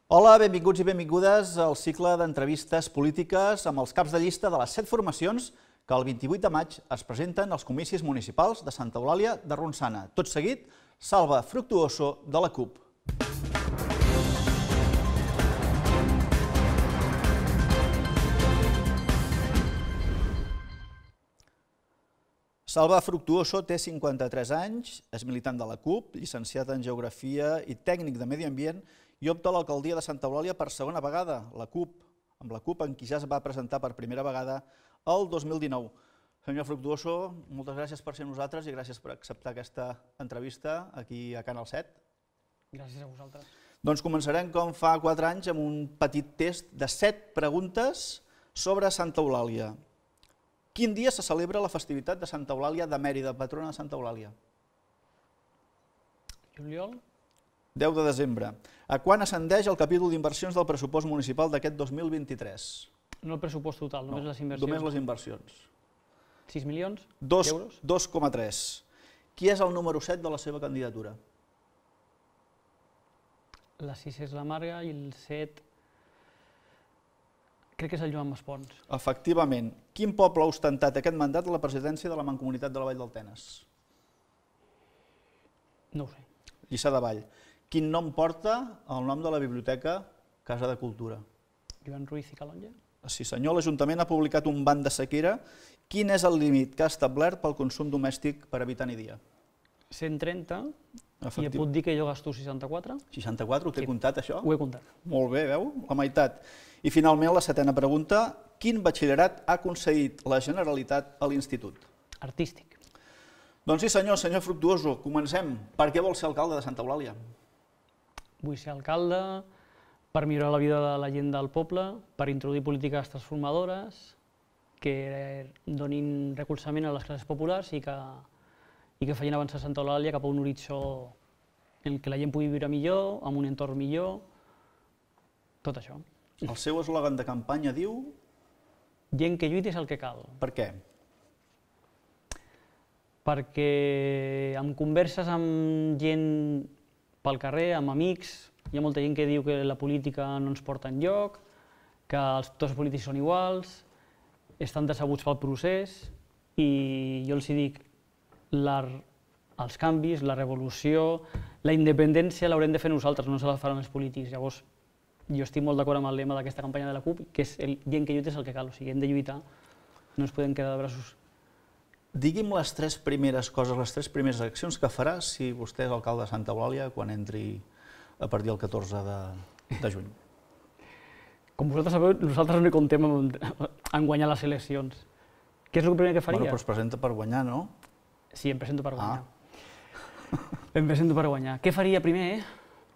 Hola, benvinguts i benvingudes al cicle d'entrevistes polítiques amb els caps de llista de les 7 formacions que el 28 de maig es presenten als comicis municipals de Santa Eulàlia de Ronçana. Tot seguit, Salva Fructuoso de la CUP. Salva Fructuoso té 53 anys, és militant de la CUP, llicenciat en Geografia i tècnic de Medi Ambient i opta a l'alcaldia de Santa Eulàlia per segona vegada, amb la CUP en qui ja es va presentar per primera vegada el 2019. Senyor Fructuoso, moltes gràcies per ser amb nosaltres i gràcies per acceptar aquesta entrevista aquí a Canal 7. Gràcies a vosaltres. Doncs començarem com fa 4 anys amb un petit test de 7 preguntes sobre Santa Eulàlia. Quin dia se celebra la festivitat de Santa Eulàlia de Mèrida, patrona de Santa Eulàlia? Juliol? 10 de desembre. A quan ascendeix el capítol d'inversions del pressupost municipal d'aquest 2023? No el pressupost total, només les inversions. Només les inversions. 6 milions d'euros? 2,3. Qui és el número 7 de la seva candidatura? La 6 és la Marga i el 7... crec que és el Joan Maspons. Efectivament. Quin poble ha ostentat aquest mandat a la presidència de la Mancomunitat de la Vall del Tenes? No ho sé. Lliçà de Vall. Quin nom porta el nom de la biblioteca Casa de Cultura? Joan Ruiz i Calonge? Sí senyor, l'Ajuntament ha publicat un ban de sequera. Quin és el límit que ha establert pel consum domèstic per habitant i dia? 130, i ja puc dir que jo gasto 64. 64, ho té comptat això? Ho he comptat. Molt bé, veu? La meitat. I finalment la 7ª pregunta, quin batxillerat ha concedit la Generalitat a l'Institut? Artístic. Doncs sí senyor Fructuoso, comencem. Per què vol ser alcalde de Santa Eulàlia? Vull ser alcalde per millorar la vida de la gent del poble, per introduir polítiques transformadores que donin recolzament a les classes populars i que facin avançar Santa Eulàlia cap a un horitzó en què la gent pugui viure millor, amb un entorn millor, tot això. El seu eslògan de campanya diu... Gent que lluiti és el que cal. Per què? Perquè amb converses amb gent pel carrer, amb amics, hi ha molta gent que diu que la política no ens porta enlloc, que tots els polítics són iguals, estan decebuts pel procés, i jo els dic els canvis, la revolució, la independència l'haurem de fer nosaltres, no se la faran els polítics. Llavors, jo estic molt d'acord amb el lema d'aquesta campanya de la CUP, que és gent que lluita és el que cal, o sigui, hem de lluitar, no ens podem quedar de braços. Digui'm les 3 primeres coses, les 3 primeres accions que farà si vostè és alcalde de Santa Eulàlia quan entri a partir del 14 de juny. Com vosaltres sabeu, nosaltres no hi comptem en guanyar les eleccions. Què és el primer que faria? Bueno, però es presenta per guanyar, no? Sí, em presento per guanyar. Em presento per guanyar. Què faria primer?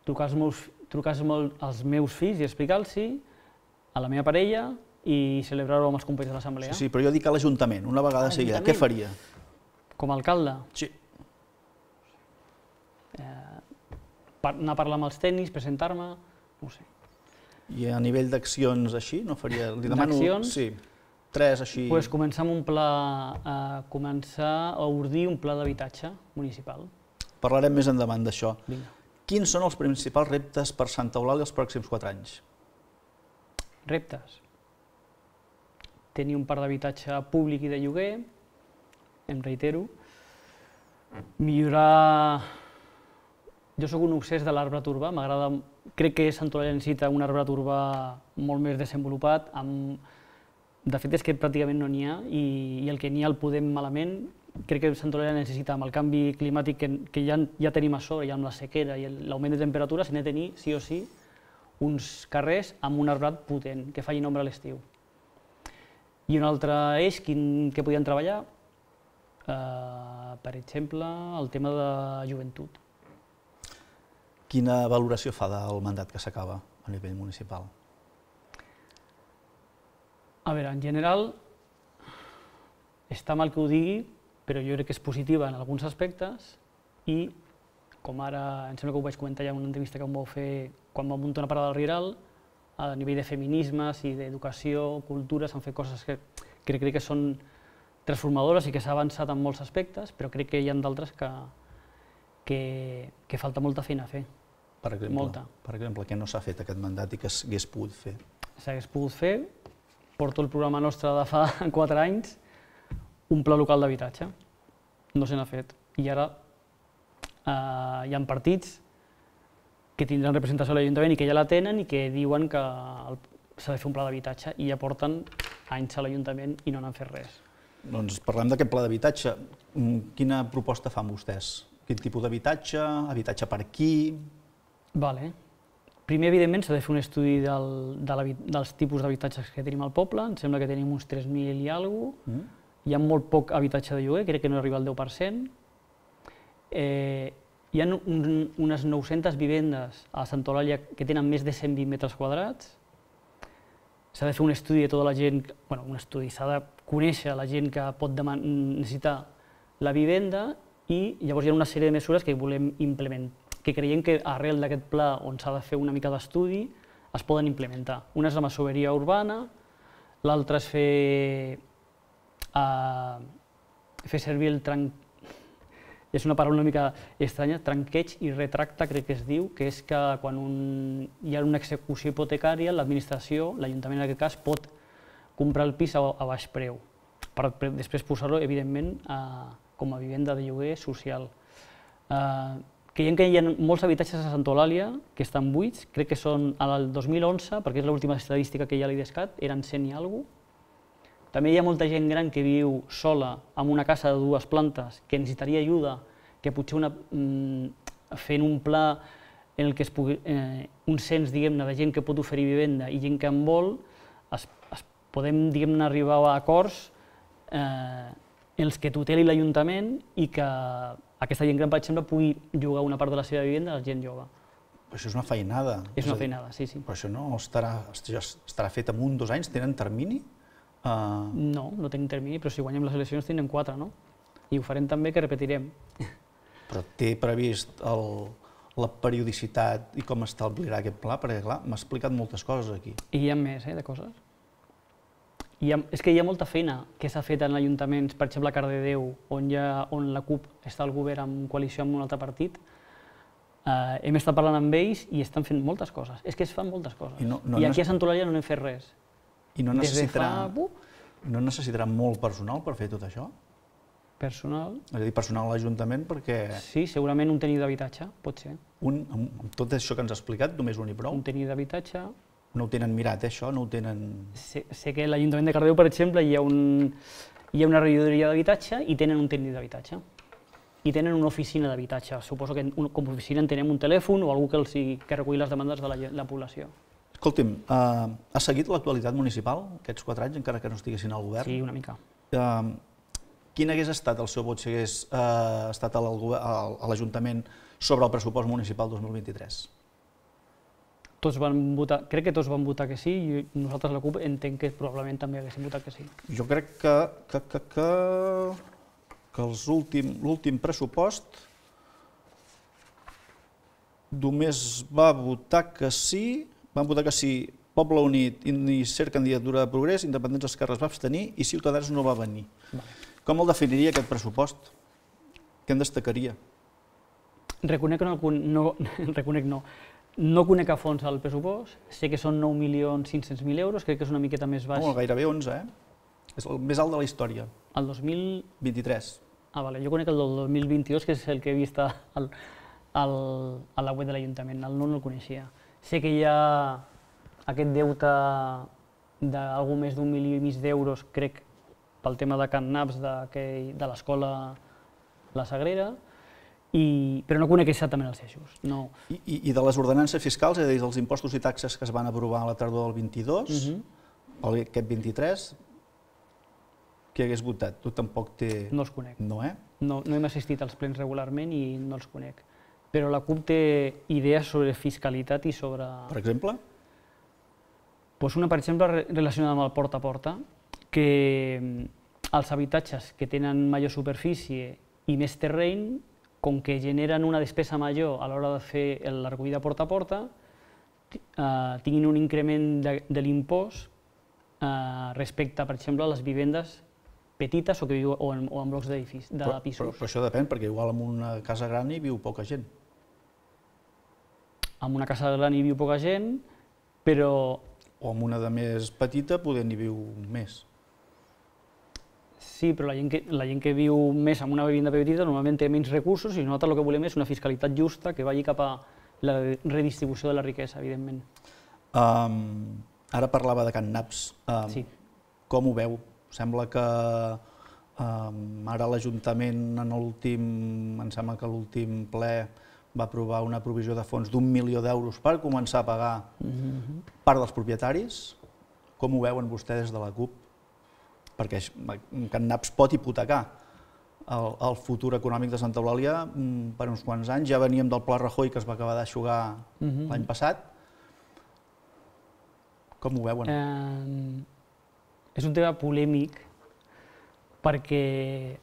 Trucar als meus fills i explicar-los a la meva parella i celebrar-ho amb els companys de l'assemblea. Sí, però jo dic a l'Ajuntament, una vegada seguida. Què faria? Com a alcalde? Sí. Anar a parlar amb els tècnics, presentar-me, no ho sé. I a nivell d'accions així, no faria... D'accions? Sí, 3 així... Doncs començar amb un pla, començar a ordir un pla d'habitatge municipal. Parlarem més endavant d'això. Vinga. Quins són els principals reptes per Santa Eulàlia els pròxims 4 anys? Reptes? Tenir un parc d'habitatge públic i de lloguer, em reitero. Millorar... Jo soc un obsès de l'arbrat urbà, m'agrada... Crec que Santa Eulàlia necessita un arbrat urbà molt més desenvolupat. De fet, és que pràcticament no n'hi ha, i el que n'hi ha el podem malament. Crec que Santa Eulàlia necessita, amb el canvi climàtic que ja tenim a sobre, ja amb la sequera i l'augment de temperatures, n'ha de tenir, sí o sí, uns carrers amb un arbrat potent, que facin ombra a l'estiu. I un altre eix, que podien treballar, per exemple, el tema de joventut. Quina valoració fa del mandat que s'acaba a nivell municipal? A veure, en general, està mal que ho digui, però jo crec que és positiva en alguns aspectes i, com ara, em sembla que ho vaig comentar ja en una entrevista que em vau fer quan vam muntar una parada del Rieral, a nivell de feminismes i d'educació, cultura, s'han fet coses que crec que són transformadores i que s'ha avançat en molts aspectes, però crec que hi ha d'altres que falta molta feina a fer. per exemple? Molta. Per exemple, què no s'ha fet aquest mandat i que s'hagués pogut fer? S'hagués pogut fer, porto el programa nostre de fa 4 anys, un pla local d'habitatge. No se n'ha fet. I ara hi ha partits que tindran representació a l'Ajuntament i que ja la tenen i que diuen que s'ha de fer un pla d'habitatge i ja porten anys a l'Ajuntament i no n'han fet res. Doncs parlem d'aquest pla d'habitatge. Quina proposta fan vostès? Quin tipus d'habitatge? Habitatge per qui? Vale. Primer, evidentment, s'ha de fer un estudi dels tipus d'habitatges que tenim al poble. Em sembla que tenim uns 3.000 i alguna cosa. Hi ha molt poc habitatge de lloguer, crec que no arriba al 10%. Hi ha unes 900 vivendes a Santa Eulàlia que tenen més de 120 metres quadrats. S'ha de fer un estudi de tota la gent, bueno, un estudi, s'ha de conèixer la gent que pot necessitar la vivenda i llavors hi ha una sèrie de mesures que volem implementar, que creiem que arrel d'aquest pla on s'ha de fer una mica d'estudi es poden implementar. Una és la masoveria urbana, l'altra és fer servir el és una paraula una mica estranya, tranqueig i retracte, crec que es diu, que és que quan hi ha una execució hipotecària, l'administració, l'Ajuntament en aquest cas, pot comprar el pis a baix preu, per després posar-lo, evidentment, com a vivenda de lloguer social. Creiem que hi ha molts habitatges a Santa Eulàlia que estan buits, crec que són al 2011, perquè és l'última estadística que hi ha a l'IDESCAT, eren 100 i alguna cosa. També hi ha molta gent gran que viu sola en una casa de 2 plantes que necessitaria ajuda, que potser fent un pla en el que es pugui, un cens, diguem-ne, de gent que pot oferir vivenda i gent que en vol, podem, diguem-ne, arribar a acords en els que tuteli l'Ajuntament i que aquesta gent gran, per exemple, pugui llogar una part de la seva vivenda a la gent jove. Això és una feinada. És una feinada, sí, sí. Però això no estarà fet en 1 o 2 anys? Tenen termini? No, no tenim termini, però si guanyem les eleccions tindrem 4, no? I ho farem també, que repetirem. Però té previst la periodicitat i com establirà aquest pla? Perquè, clar, m'ha explicat moltes coses aquí. I hi ha més, de coses. És que hi ha molta feina que s'ha fet en ajuntaments, per exemple a Cardedeu, on la CUP està al govern en coalició amb un altre partit. Hem estat parlant amb ells i estan fent moltes coses. És que es fan moltes coses. I aquí a Santa Eulàlia no n'hem fet res. I no necessitarà molt personal per fer tot això? Personal? És a dir, personal a l'Ajuntament perquè... Sí, segurament un tècnic d'habitatge, pot ser. Amb tot això que ens ha explicat, només un i prou? Un tècnic d'habitatge. No ho tenen mirat, això? No ho tenen... Sé que a l'Ajuntament de Cardedeu, per exemple, hi ha una regidoria d'habitatge i tenen un tècnic d'habitatge. I tenen una oficina d'habitatge. Suposo que com a oficina en tenem un telèfon o algú que reculli les demandes de la població. Escolti'm, ha seguit l'actualitat municipal aquests 4 anys, encara que no estiguessin al govern? Sí, una mica. Quin hagués estat el seu vot si hagués estat a l'Ajuntament sobre el pressupost municipal 2023? Tots van votar, crec que tots van votar que sí, i nosaltres, la CUP, entenc que probablement també haguéssim votat que sí. Jo crec que l'últim pressupost només va votar que sí, van votar que sí Poble Unit, Iniciar Candidatura de Progrés, Independents Esquerra es va abstenir i Ciutadans no va venir. Com el definiria aquest pressupost? Què en destacaria? No conec a fons el pressupost, sé que són 9.500.000 euros, crec que és una miqueta més baix. Gairebé 11, És el més alt de la història. El 2023. Vale, jo conec el del 2022, que és el que he vist a la web de l'Ajuntament, el no el coneixia. Sé que hi ha aquest deute d'algú més d'1,5 milió d'euros, crec, pel tema de Can Naps de l'escola La Sagrera, però no conec exactament els eixos. I de les ordenances fiscals, és a dir, dels impostos i taxes que es van aprovar a la tardor del 22, aquest 23, qui hagués votat? Tu tampoc té... No els conec. No, No hem assistit als plens regularment i no els conec. Però la CUP té idees sobre fiscalitat i sobre... Per exemple? Una, per exemple, relacionada amb el porta a porta, que els habitatges que tenen major superfície i més terreny, com que generen una despesa major a l'hora de fer la recollida porta a porta, tinguin un increment de l'impost respecte, per exemple, a les vivendes petites o en blocs de pisos. Però això depèn, perquè igual en una casa gran hi viu poca gent. en una casa gran hi viu poca gent, però... O en una de més petita poder n'hi viu més. Sí, però la gent que viu més en una vivenda petita normalment té menys recursos i nosaltres el que volem és una fiscalitat justa que vagi cap a la redistribució de la riquesa, evidentment. Ara parlava de Can Naps. Sí. Com ho veu? Sembla que ara l'Ajuntament em sembla que l'últim ple va aprovar una provisió de fons d'1 milió d'euros per començar a pagar part dels propietaris. Com ho veuen vostès des de la CUP? Perquè Can Naps pot hipotecar el futur econòmic de Santa Eulàlia per uns quants anys. Ja veníem del Pla Rajoy, que es va acabar d'eixugar l'any passat. Com ho veuen? És un tema polèmic perquè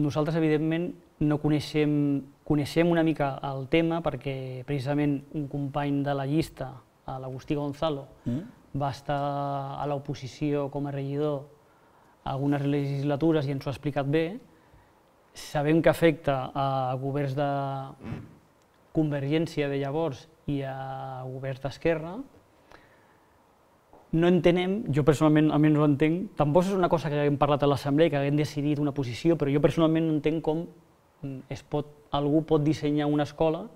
nosaltres, evidentment, no coneixem una mica el tema perquè precisament un company de la llista, l'Agustí Gonzalo, va estar a l'oposició com a regidor algunes legislatures i ens ho ha explicat bé. Sabem que afecta a governs de Convergència de llavors i a governs d'Esquerra. No entenem, jo personalment almenys no entenc, tampoc és una cosa que haguem parlat a l'Assemblea, que haguem decidit una posició, però jo personalment no entenc com algú pot dissenyar una escola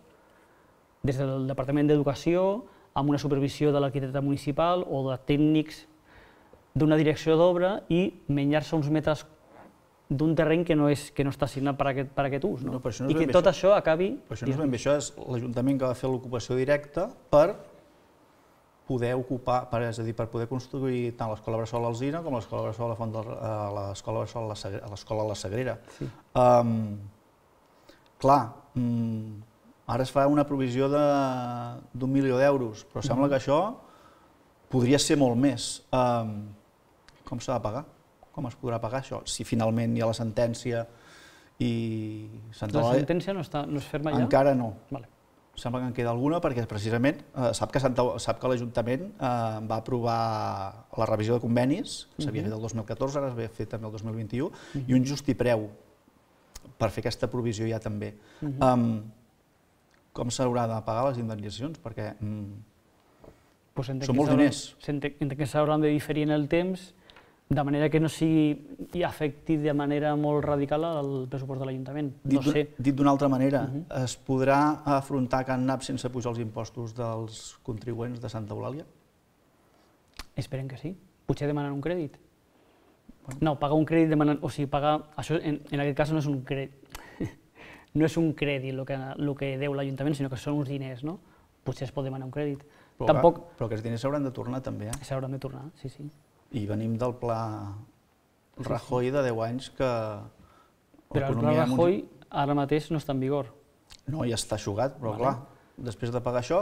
des del Departament d'Educació amb una supervisió de l'arquitecte municipal o de tècnics d'una direcció d'obra i menjar-se uns metres d'un terreny que no està assignat per aquest ús. I que tot això acabi... Però això no és ben bé, això és l'Ajuntament que va fer l'ocupació directa per poder ocupar, és a dir, per poder construir tant l'escola Bressol Alzina com l'escola Bressol l'escola Bressol a l'escola La Sagrera. Clar, ara es fa una provisió d'1 milió d'euros, però sembla que això podria ser molt més. Com s'ha de pagar? Com es podrà pagar això? Si finalment hi ha la sentència i... La sentència no és ferma ja? Encara no. Sembla que en queda alguna perquè precisament sap que l'Ajuntament va aprovar la revisió de convenis, que s'havia fet el 2014, ara es va fer també el 2021, i un justipreu per fer aquesta provisió ja també. Com s'haurà de pagar les indemnitzacions? Perquè són molts diners. Entenc que s'hauran de diferir en el temps, de manera que no sigui afecti de manera molt radical al pressupost de l'Ajuntament. No sé. Dit d'una altra manera, es podrà afrontar Can Naps sense pujar els impostos dels contribuents de Santa Eulàlia? Esperem que sí. Potser demanen un crèdit. No, pagar un crèdit demanant... O sigui, pagar... Això en aquest cas no és un crèdit. No és un crèdit el que deu l'Ajuntament, sinó que són uns diners, no? Potser es pot demanar un crèdit. Però aquests diners s'hauran de tornar també, eh? S'hauran de tornar, sí, sí. I venim del pla Rajoy de 10 anys que... Però el pla Rajoy ara mateix no està en vigor. No, ja està eixugat, però clar, després de pagar això,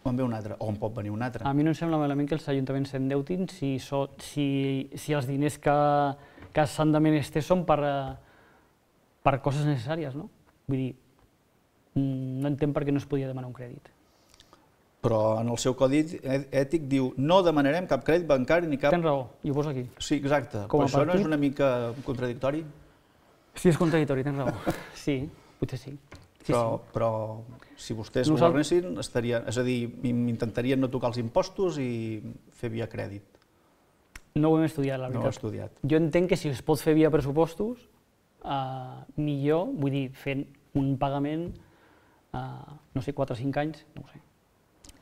en ve un altre, o en pot venir un altre. A mi no em sembla malament que els ajuntaments s'endeutin si els diners que s'han de menester són per coses necessàries, no? Vull dir, no entenc per què no es podia demanar un crèdit. Però en el seu codi ètic diu no demanarem cap crèdit bancari ni cap... Tens raó, i ho poso aquí. Sí, exacte. Però això no és una mica contradictori? Sí, és contradictori, tens raó. Sí, potser sí. Però si vostès governessin, és a dir, intentarien no tocar els impostos i fer via crèdit. No ho hem estudiat, la veritat. No ho he estudiat. Jo entenc que si es pot fer via pressupostos, millor, vull dir, fent un pagament, no sé, 4 o 5 anys, no ho sé.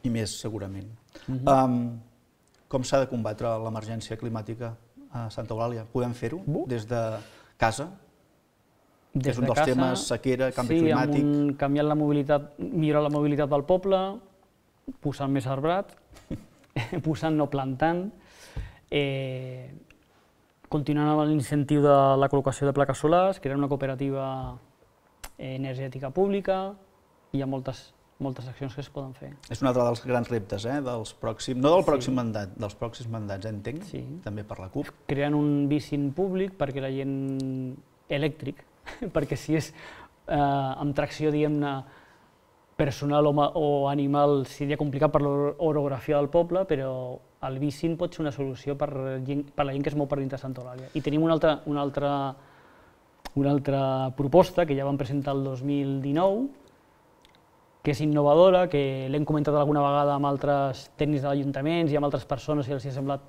I més, segurament. Com s'ha de combatre l'emergència climàtica a Santa Eulàlia? Podem fer-ho des de casa? Que és un dels temes, sequera, canvi climàtic... Sí, amb canviar la mobilitat, millorar la mobilitat del poble, posant més arbrat, posant no plantant, continuant amb l'incentiu de la col·locació de plaques solars, crear una cooperativa energètica pública, hi ha moltes accions que es poden fer. És un altre dels grans reptes, dels pròxims, no del pròxim mandat, dels pròxims mandats, entenc, també per la CUP. Creant un bicing públic perquè la gent elèctric, perquè si és amb tracció, diguem-ne, personal o animal seria complicat per l'orografia del poble, però el bicing pot ser una solució per la gent que es mou per dintre de Santa Eulàlia. I tenim una altra proposta que ja vam presentar el 2019, que és innovadora, que l'hem comentat alguna vegada amb altres tècnics de l'Ajuntament i amb altres persones i els ha semblat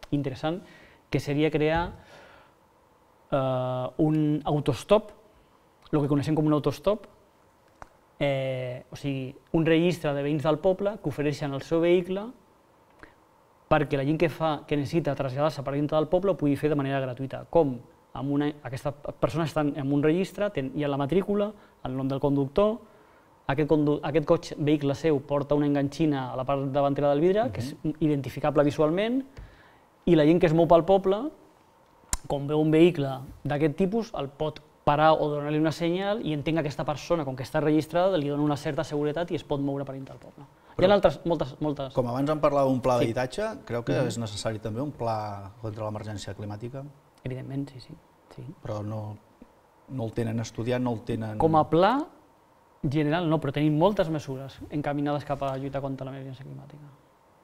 interessant, que seria crear un autostop, el que coneixem com un autostop, o sigui, un registre de veïns del poble que ofereixen el seu vehicle perquè la gent que necessita traslladar-se per dintre del poble ho pugui fer de manera gratuïta. Com? Aquestes persones estan en un registre, hi ha la matrícula, el nom del conductor, aquest vehicle seu porta una enganxina a la part davantera del vidre, que és identificable visualment, i la gent que es mou pel poble, quan veu un vehicle d'aquest tipus, el pot parar o donar-li una senyal i entén que aquesta persona, com que està registrada, li dona una certa seguretat i es pot moure per dintre del poble. Hi ha altres, moltes... Com abans em parlava d'un pla d'habitatge, creu que és necessari també un pla contra l'emergència climàtica? Evidentment, sí. Però no el tenen estudiat, no el tenen... Com a pla general no, però tenim moltes mesures encaminades cap a lluitar contra l'emergència climàtica.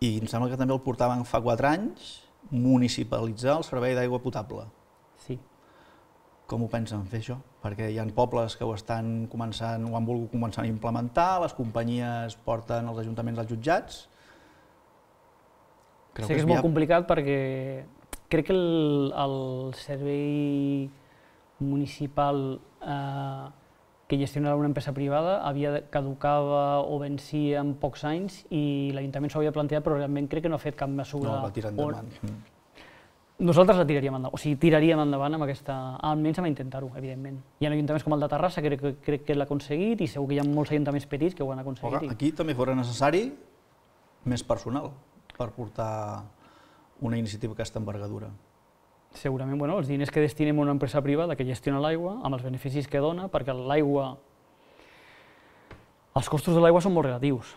I em sembla que també el portaven fa 4 anys, municipalitzar el servei d'aigua potable. Sí. Com ho pensen fer això? Perquè hi ha pobles que ho estan començant, ho han volgut començar a implementar, les companyies porten els ajuntaments als jutjats. Sé que és molt complicat perquè crec que el servei municipal que gestionava una empresa privada caducava o vencia en pocs anys i l'Ajuntament s'ho havia plantejat, però realment crec que no ha fet cap mesura. No, va tirar endavant. Nosaltres la tiraríem endavant, o sigui, tiraríem endavant amb aquesta... almenys amb intentar-ho, evidentment. Hi ha ajuntaments com el de Terrassa, crec que l'ha aconseguit, i segur que hi ha molts ajuntaments petits que ho han aconseguit. Aquí també fora necessari més personal per portar una iniciativa d'aquesta envergadura. Segurament, els diners que destinem a una empresa privada que gestiona l'aigua, amb els beneficis que dona, perquè l'aigua... Els costos de l'aigua són molt relatius.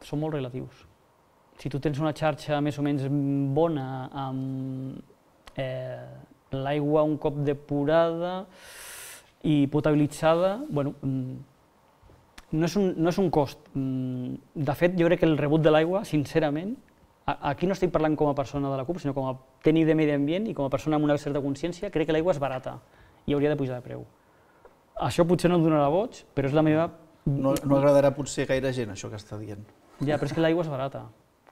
Són molt relatius. Si tu tens una xarxa més o menys bona, amb l'aigua un cop depurada i potabilitzada, no és un cost. De fet, jo crec que el rebut de l'aigua, sincerament, aquí no estic parlant com a persona de la CUP, sinó com a tècnic de medi ambient i com a persona amb una certa consciència, crec que l'aigua és barata i hauria de pujar de preu. Això potser no em donarà boig, però és la meva... No agradarà potser gaire gent, això que està dient. Ja, però és que l'aigua és barata,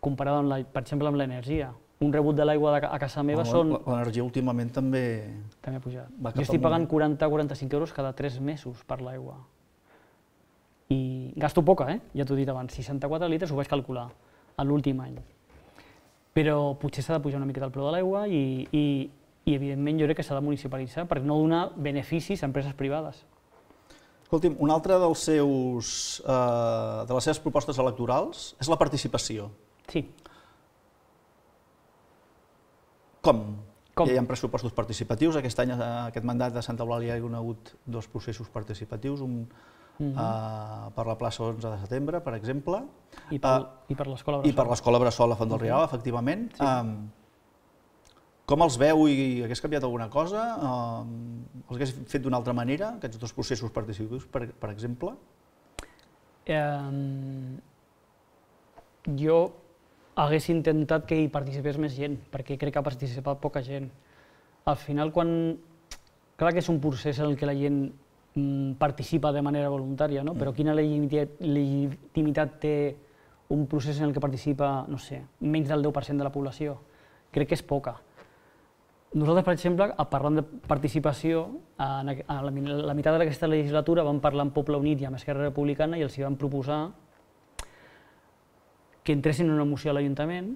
comparada, per exemple, amb l'energia. Un rebut de l'aigua a casa meva són... L'energia últimament també... També ha pujat. Jo estic pagant 40-45 euros cada 3 mesos per l'aigua. I gasto poca, ja t'ho he dit abans, 64 litres ho vaig calcular a l'últim any. Però potser s'ha de pujar una miqueta el preu de l'aigua i evidentment jo crec que s'ha de municipalitzar per no donar beneficis a empreses privades. Escolti'm, una altra de les seves propostes electorals és la participació. Sí. Com? Hi ha pressupostos participatius. Aquest any, aquest mandat de Santa Eulàlia, hi ha hagut 2 processos participatius, un per la plaça 11 de setembre, per exemple. I per l'escola Bressol. I per l'escola Bressol a Font del Rieral, efectivament. Com els veu i hagués canviat alguna cosa? Els hagués fet d'una altra manera, aquests 2 processos participatius, per exemple? Jo hagués intentat que hi participés més gent, perquè crec que ha participat poca gent. Al final, clar que és un procés en què la gent participa de manera voluntària, però quina legitimitat té un procés en què participa, no sé, menys del 10% de la població? Crec que és poca. Nosaltres, per exemple, parlant de participació, a la meitat d'aquesta legislatura vam parlar amb Poble Unit i amb Esquerra Republicana i els hi vam proposar que entressin una moció a l'Ajuntament,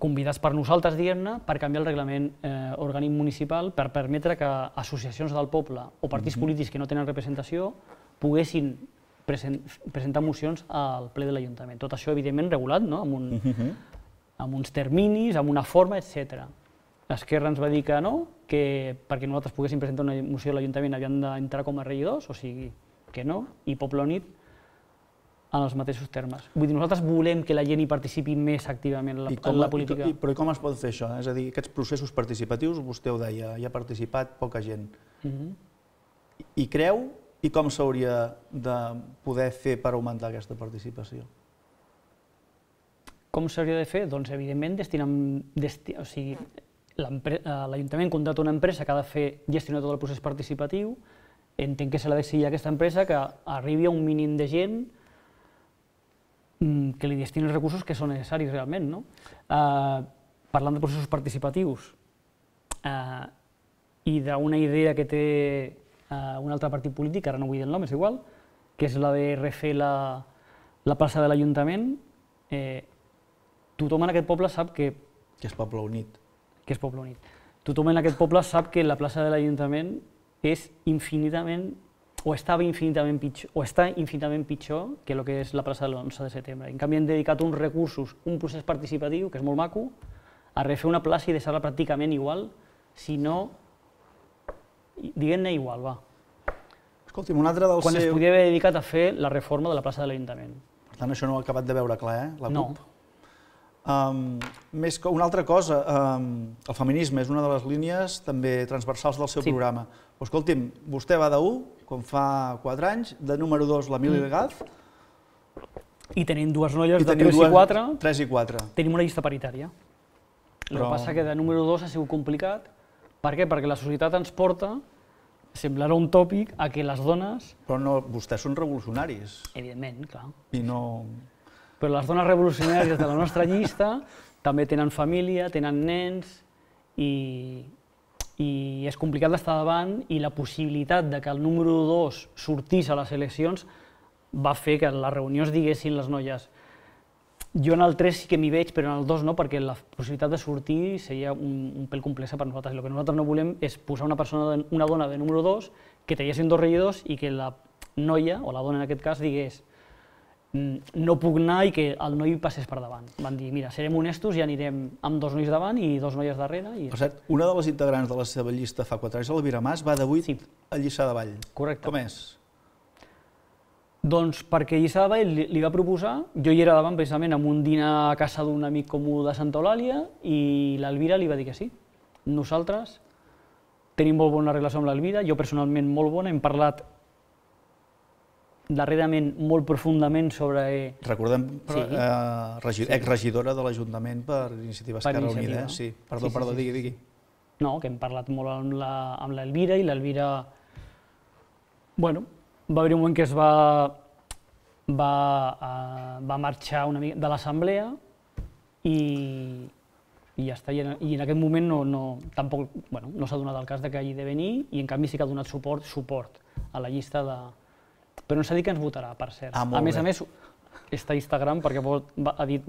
convidats per nosaltres, diguem-ne, per canviar el reglament orgànic municipal per permetre que associacions del poble o partits polítics que no tenen representació poguessin presentar mocions al ple de l'Ajuntament. Tot això, evidentment, regulat, amb uns terminis, amb una forma, etc. Esquerra ens va dir que no, que perquè nosaltres poguéssim presentar una moció a l'Ajuntament havien d'entrar com a regidors, o sigui que no, i Poble Unit en els mateixos termes. Vull dir, nosaltres volem que la gent hi participi més activament en la política. Però com es pot fer això? És a dir, aquests processos participatius, vostè ho deia, hi ha participat poca gent. I creu i com s'hauria de poder fer per augmentar aquesta participació? Com s'hauria de fer? Doncs, evidentment, l'Ajuntament contracta una empresa que ha de gestionar tot el procés participatiu entenc que se l'ha de seguir aquesta empresa, que arribi a un mínim de gent que li destini els recursos que són necessaris realment. Parlant de processos participatius i d'una idea que té un altre partit polític, ara no vull dir el nom, és igual, que és la de refer la plaça de l'Ajuntament, tothom en aquest poble sap que... Que és Poble Unit. Que és Poble Unit. Tothom en aquest poble sap que la plaça de l'Ajuntament és infinitament, o estava infinitament pitjor, o està infinitament pitjor que el que és la plaça de l'11 de setembre. En canvi, hem dedicat uns recursos, un procés participatiu, que és molt maco, a refer una plaça i deixar-la pràcticament igual, si no, diguem-ne igual, va. Escolti'm, un altre del Quan es podia haver dedicat a fer la reforma de la plaça de l'Ajuntament. Per tant, això no ho ha acabat de veure clar, la CUP? No. Una altra cosa, el feminisme és una de les línies també transversals del seu programa. Però, escolti'm, vostè va de 1, com fa 4 anys, de número 2 l'Emili Legaz. I tenim dues noies de 3 i 4. 3 i 4. Tenim una llista paritària. El que passa que de número 2 ha sigut complicat. Per què? Perquè la societat ens porta, semblarà un tòpic, a que les dones... Però no, vostès són revolucionaris. Evidentment, clar. I no... Però les dones revolucionàries de la nostra llista també tenen família, tenen nens i és complicat d'estar davant i la possibilitat de que el número 2 sortís a les eleccions va fer que a les reunions diguessin les noies jo en el 3 sí que m'hi veig, però en el 2 no, perquè la possibilitat de sortir seria un pèl complexa per nosaltres. El que nosaltres no volem és posar una dona de número 2 que traguessin 2 regidors i que la noia, o la dona en aquest cas, digués no puc anar i que el noi passés per davant. Van dir, mira, serem honestos i anirem amb 2 nois davant i 2 noies darrere. Per cert, una de les integrants de la seva llista fa 4 anys, l'Elvira Mas, va de 8 a Lliçà de Vall. Correcte. Com és? Doncs perquè Lliçà de Vall li va proposar, jo hi era davant precisament amb un dinar a casa d'un amic comú de Santa Eulàlia i l'Elvira li va dir que sí. Nosaltres tenim molt bona relació amb l'Elvira, jo personalment molt bona, hem parlat darrerament molt profundament sobre... Recordem, exregidora de l'Ajuntament per Iniciativa Esquerra Unida, sí. Perdó, digui. No, que hem parlat molt amb l'Elvira i l'Elvira... Bueno, va haver un moment que es va marxar una mica de l'assemblea i ja està. I en aquest moment tampoc no s'ha donat el cas que hagi de venir i en canvi sí que ha donat suport a la llista de... Però no s'ha dit que ens votarà, per cert. A més, està a Instagram perquè ha dit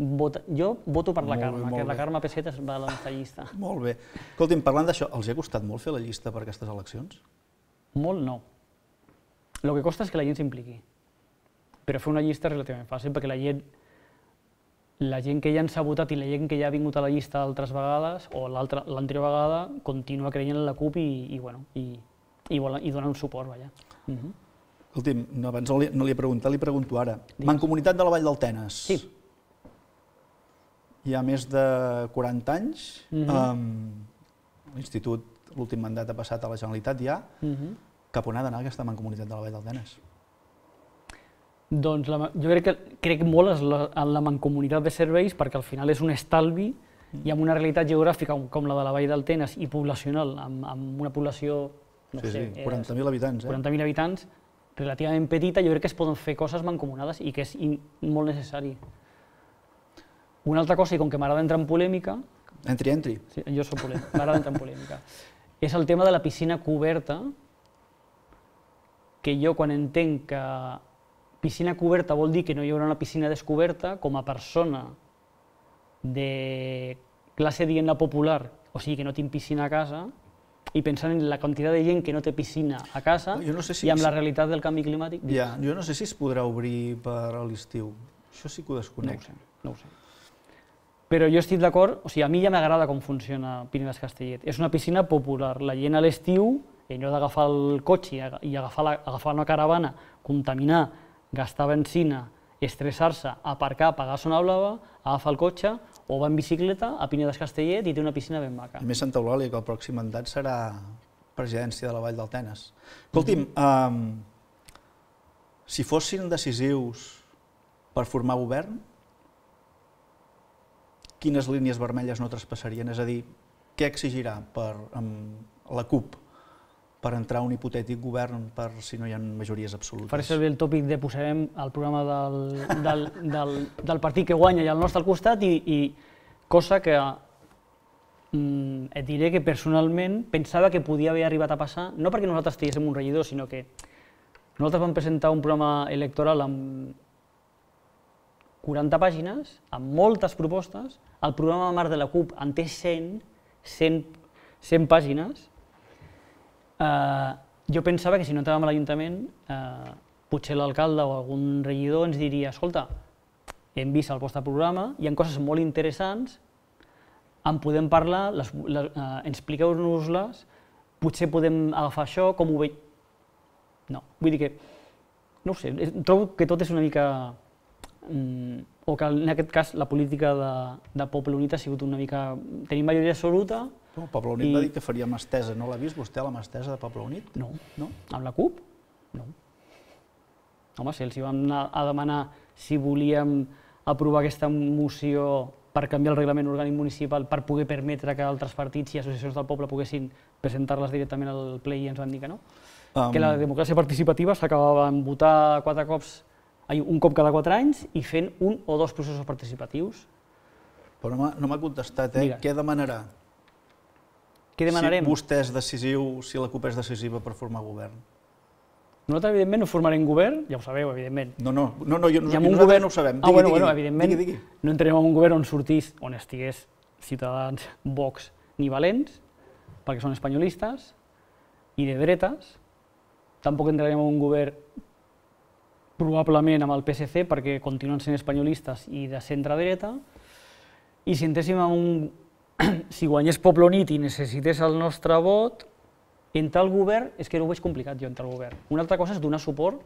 jo voto per la Carme, que la Carme Pessetes va a la nostra llista. Molt bé. Escolti'm, parlant d'això, els ha costat molt fer la llista per aquestes eleccions? Molt no. El que costa és que la gent s'impliqui. Però fer una llista és relativament fàcil perquè la gent que ja ens ha votat i la gent que ja ha vingut a la llista altres vegades o l'anterior vegada continua creient en la CUP i dona un suport, vaja. Escolti'm, abans no li he preguntat, li pregunto ara. Mancomunitat de la Vall del Tenes. Sí. Hi ha més de 40 anys. L'institut, l'últim mandat ha passat a la Generalitat ja. Cap on ha d'anar aquesta Mancomunitat de la Vall del Tenes? Doncs jo crec molt en la mancomunitat de serveis perquè al final és un estalvi i amb una realitat geogràfica com la de la Vall del Tenes i poblacional, amb una població, no sé, 40.000 habitants. 40.000 habitants, relativament petita, jo crec que es poden fer coses mancomunades i que és molt necessari. Una altra cosa, i com que m'agrada entrar en polèmica... Entri. Sí, jo soc polèmic, m'agrada entrar en polèmica. És el tema de la piscina coberta, que jo quan entenc que piscina coberta vol dir que no hi haurà una piscina descoberta, com a persona de classe, diguem-ne, popular, o sigui que no tinc piscina a casa, i pensant en la quantitat de gent que no té piscina a casa i amb la realitat del canvi climàtic... Jo no sé si es podrà obrir per a l'estiu. Això sí que ho desconec. No ho sé. Però jo estic d'acord, o sigui, a mi ja m'agrada com funciona Pirineus Castellet. És una piscina popular. La gent a l'estiu, en lloc d'agafar el cotxe i agafar una caravana, contaminar, gastar benzina, estressar-se, aparcar, pagar zona blava, agafar el cotxe o va en bicicleta a Pirineus Castellet i té una piscina ben maca. A més, Santa Eulàlia, que el pròxim mandat serà presidència de la Vall del Tenes. Escolti'm, si fossin decisius per formar govern, quines línies vermelles no traspassarien? És a dir, què exigirà per la CUP per entrar a un hipotètic govern per si no hi ha majories absolutes. Faré servir el tòpic de posarem el programa del partit que guanya i el nostre al costat, i cosa que et diré que personalment pensava que podia haver arribat a passar, no perquè nosaltres tinguéssim un regidor, sinó que nosaltres vam presentar un programa electoral amb 40 pàgines, amb moltes propostes. El programa marc de la CUP en té 100 pàgines. Jo pensava que si no entràvem a l'Ajuntament, potser l'alcalde o algun regidor ens diria: escolta, hem vist el vostre programa, hi ha coses molt interessants, en podem parlar, expliqueu-nos-les, potser podem agafar això, com ho veig... No, vull dir que, no ho sé, trobo que tot és una mica... o que en aquest cas la política de Poble Unit ha sigut una mica... Tenim majoria absoluta... Poble Unit va dir que faria mà estesa, no l'ha vist vostè, la mà estesa de Poble Unit? No. Amb la CUP? No. Home, si els hi vam anar a demanar si volíem aprovar aquesta moció per canviar el reglament orgànic municipal per poder permetre que altres partits i associacions del poble poguessin presentar-les directament al ple, i ens van dir que no. Que la democràcia participativa s'acabava en votar un cop cada 4 anys i fent un o dos processos participatius. Però no m'ha contestat, què demanarà? Què demanarem? Si vostè és decisiu, si la CUP és decisiva per formar govern. Nosaltres, evidentment, no formarem govern, ja ho sabeu, evidentment. No, nosaltres no ho sabem. Evidentment, no entrarem en un govern on estigués Ciutadans, Vox ni Valents, perquè són espanyolistes i de dretes. Tampoc entrarem en un govern probablement amb el PSC, perquè continuen sent espanyolistes i de centre-dreta. I si entréssim en un... Si guanyés Poble Unit i necessités el nostre vot, entrar al govern, és que no ho veig complicat jo, entrar al govern. Una altra cosa és donar suport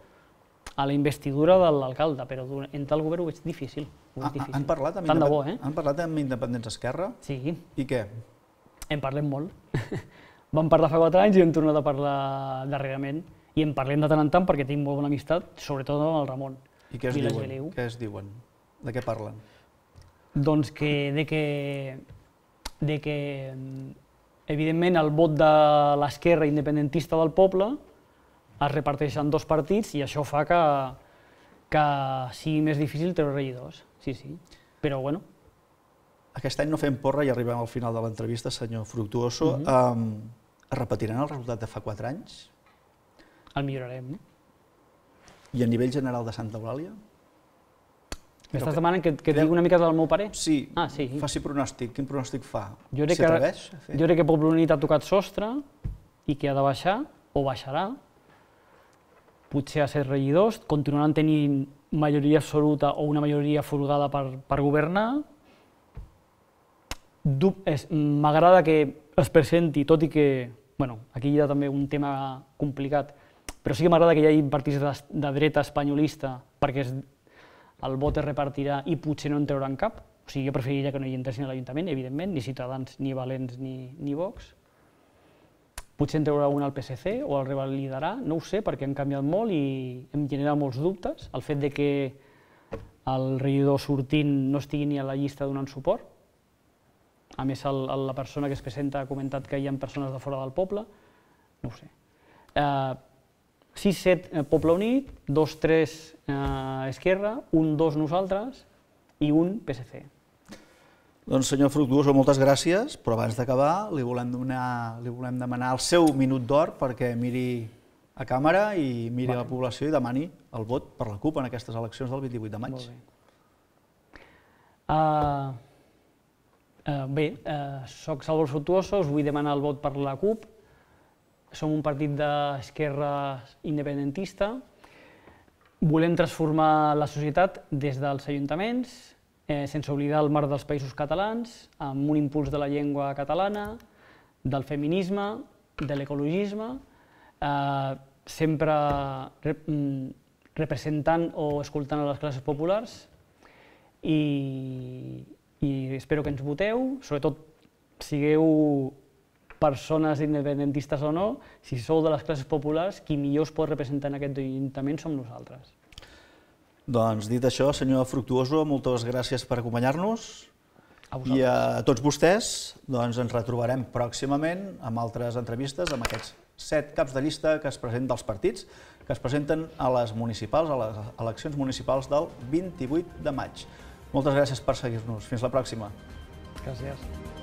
a la investidura de l'alcalde, però entrar al govern ho veig difícil. Han parlat amb Independents Esquerra? Sí. I què? En parlem molt. Vam parlar fa 4 anys i hem tornat a parlar darrerament. I en parlem de tant en tant perquè tinc molt bona amistat, sobretot amb el Ramon. I què es diuen? De què parlen? Doncs que evidentment el vot de l'esquerra independentista del poble es reparteix en 2 partits i això fa que sigui més difícil treure regidors. Sí, però bueno. Aquest any no fem porra i arribem al final de l'entrevista, senyor Fructuoso. Es repetiran el resultat de fa 4 anys? El millorarem. I a nivell general de Santa Eulàlia? M'estàs demanant que digui una mica del meu parer? Sí, faci pronòstic. Quin pronòstic fa? S'atreveix a fer? Jo crec que Poble Unit ha tocat sostre i que ha de baixar, o baixarà, potser a 7 regidors, continuaran tenint majoria absoluta o una majoria folgada per governar. M'agrada que es presenti, tot i que, aquí hi ha també un tema complicat, però sí que m'agrada que hi hagi partits de dreta espanyolista perquè el vot es repartirà i potser no en trauran cap. O sigui, jo preferiria que no hi entressin a l'Ajuntament, evidentment, ni Ciutadans, ni Valents, ni Vox. Potser en traurà un al PSC o el revalidarà, no ho sé, perquè han canviat molt i em genera molts dubtes. El fet que el regidor sortint no estigui ni a la llista donant suport. A més, la persona que es presenta ha comentat que hi ha persones de fora del poble. No ho sé. 6-7 Poble Unit, 2-3 Esquerra, 1-2 nosaltres i 1 PSC. Doncs, senyor Fructuoso, moltes gràcies, però abans d'acabar li volem demanar el seu minut d'or perquè miri a càmera i miri a la població i demani el vot per la CUP en aquestes eleccions del 28 de maig. Bé, soc Salvador Fructuoso, us vull demanar el vot per la CUP. Som un partit d'esquerra independentista. Volem transformar la societat des dels ajuntaments, sense oblidar el marc dels països catalans, amb un impuls de la llengua catalana, del feminisme, de l'ecologisme, sempre representant o escoltant a les classes populars, i espero que ens voteu, sobretot sigueu persones independentistes o no, si sou de les classes populars, qui millor es pot representar en aquest ajuntament som nosaltres. Doncs dit això, senyor Fructuoso, moltes gràcies per acompanyar-nos i a tots vostès ens retrobarem pròximament amb altres entrevistes amb aquests 7 caps de llista que es presenten dels partits, que es presenten a les municipals, a les eleccions municipals del 28 de maig. Moltes gràcies per seguir-nos. Fins la pròxima. Gràcies.